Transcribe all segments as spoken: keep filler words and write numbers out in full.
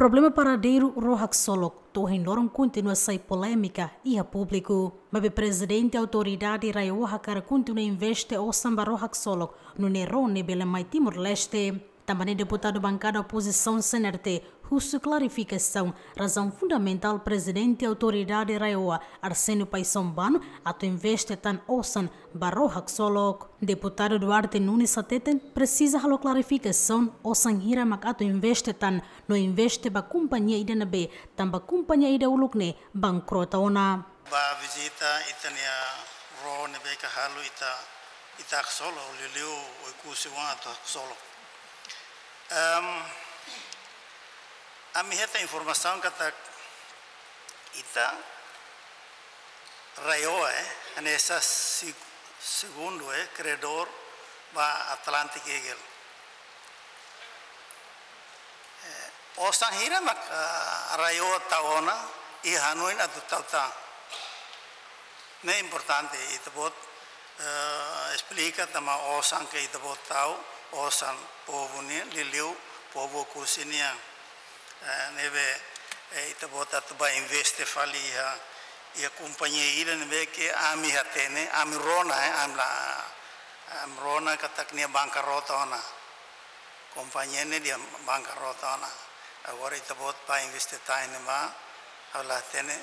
Problema paradeiru Rua Haksolok to'o ohin loron kontinua sai polémika iha públiku. Maibé Prezidente Autoridade RAEOA hakarak kontinua investe osan ba Rua Haksolok, nune'e ró ne'e bele mai Timor-Leste. Tanba ne'e deputadu bankada opozisaun C N R T husu klarifikasaun razaun fundamentál Prezidente Autoridade RAEOA Arsénio Paixão Bano atu investe tan osan ba Rua Haksolok. Deputadu Duarte Nunes hateten presiza halo klarifikasaun osan hira mak atu investe tan, no investe ba kompañia ida ne'ebé, tanba kompañia ida uluk ne'e bankrota ona. Ba vizita ita-nia ró ne'ebé ke halo ita, ita Haksolok, liuliu Oekusi oan atu Haksolok. Em, ami hetan informasaun katak ita RAEOA, eh, hanesan seg-, segundu, eh, kredór ba Atlantic Eagle. Eh, osan hira mak, ah, RAEOA tau ona, i hanoin atu tau tan. Ne'e importante ita-boot, eh, esplika tanba osan ke ita-boot tau, osan povu nian, liuliu povu Oekusi nian. Eh, ne'ebé, eh, ita-boot atu ba investe fali iha, iha kompañia ida ne'ebé ke ami hatene, ami rona, eh, ami la, ami rona katak nia bankrota ona. Kompañia ne'e nia bankrota ona. Agora ita-boot ba investe tan ne'ebá, ha'u la hatene,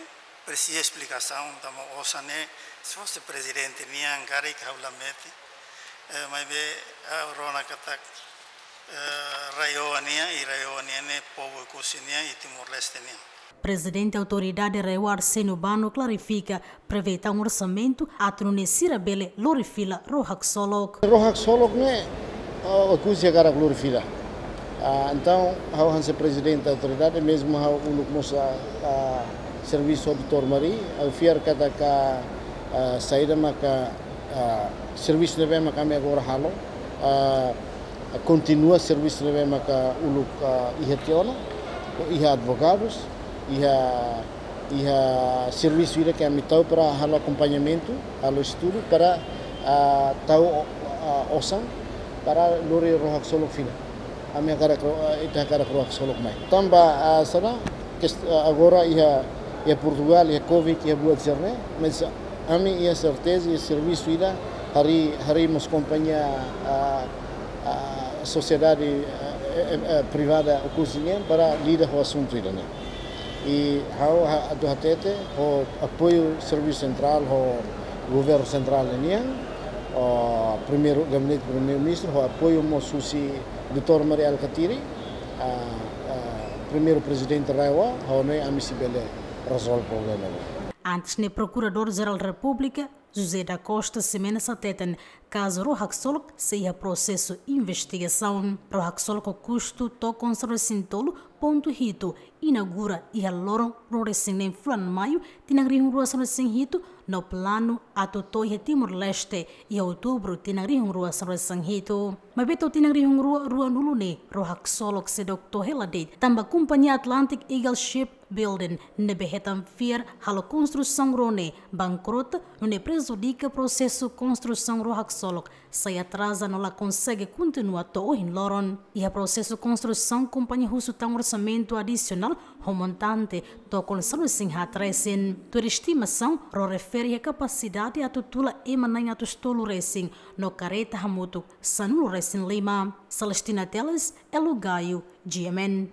presiza esplikasaun, tanba osan ne'e, se fosse prezidente nian karik ha'u la mete. Eh, maibé, eh, rona katak, eh, RAEOA nian, i RAEOA nian ne'e povu Oekusi nian, i Timor-Leste nian. Prezidente Autoridade RAEOA Arsénio Bano klarifika, prevee tan orsamentu atu nune'e sira bele lori fila Rua Haksolok. Rua Haksolok ne'e, ah, Oekusi hakarak lori fila. Ah, entaun, ha'u hanesan Prezidente Autoridade, mezmu ha'u uluk mós, ah, ah, servisu ho Doutór Mari, ha'u fiar katak, ah, saida maka, ah, servisu ne'ebé mak ami agora halo, ah, kontinua servisu ne'ebé maka uluk, ah, iha tiha ona, iha advogadus, iha, iha servisu ida ke ami tau para halo akompañamentu, halo estudu para, ah, tau, ah, osan para lori Rua Haksolok fila. Ami hakarak ro-, ah, ita hakarak Rua Haksolok mai. Tanba, ah, sala, kest-, ah, agora iha, iha Portugal, iha covid, iha buat sira-ne'e, mas ami iha serteza, iha servisu ida, harii, harii mós kompañia, ah, ah, sosiedade, ah, eh, eh, eh, privada Oekusi nian para lida ho asuntu ida-ne'e. I ha'u ha-, atu hatete, ho apoiu servisu sentrál, ho governu sentrál nian, ho primeiru, gabinete primeiru-ministru, ho apoiu mós husi Doutór Mari Alkatiri, ah, ah, primeiru prezidente RAEOA, ha'u hanoin ami sei bele rezolve problema ne'e. Antes ne'e Prokuradór Jerál Repúblika, José da Costa Ximenes hateten, kazu Rua Haksolok sei iha prosesu investigasaun. Rua Haksolok ho kustu tokon sanulu-resin-tolu pontu hitu inaugura iha loron ruanulu-resin-neen fulan Maiu tinan rihun rua sanulu-resin-hitu, no planu atu to'o iha Timor-Leste iha Outubru tinan rihun rua sanulu-resin-hitu. Maibé to'o tinan rihun rua ruanulu ne'e, Rua Haksolok seidauk to'o hela de'it, tanba kompañia Atlantic Eagle Ship Building ne'ebé hetan fiar halo konstrusaun ró ne'e bankrota, nune'e prejudika prosesu konstrusaun Rua Haksolok, sai atraza no la konsege kontinua to'o ohin loron. Iha prosesu konstrusaun kompañia husu tan orsamentu adisionál ho montante tokon sanulu-resin-haat resin. Tuir estimasaun, ró refere iha kapasidade atu tula ema na'in atus tolu resin, no karreta hamutuk sanulu-resin-lima. Celestina Teles, Elo Gaio, G M N.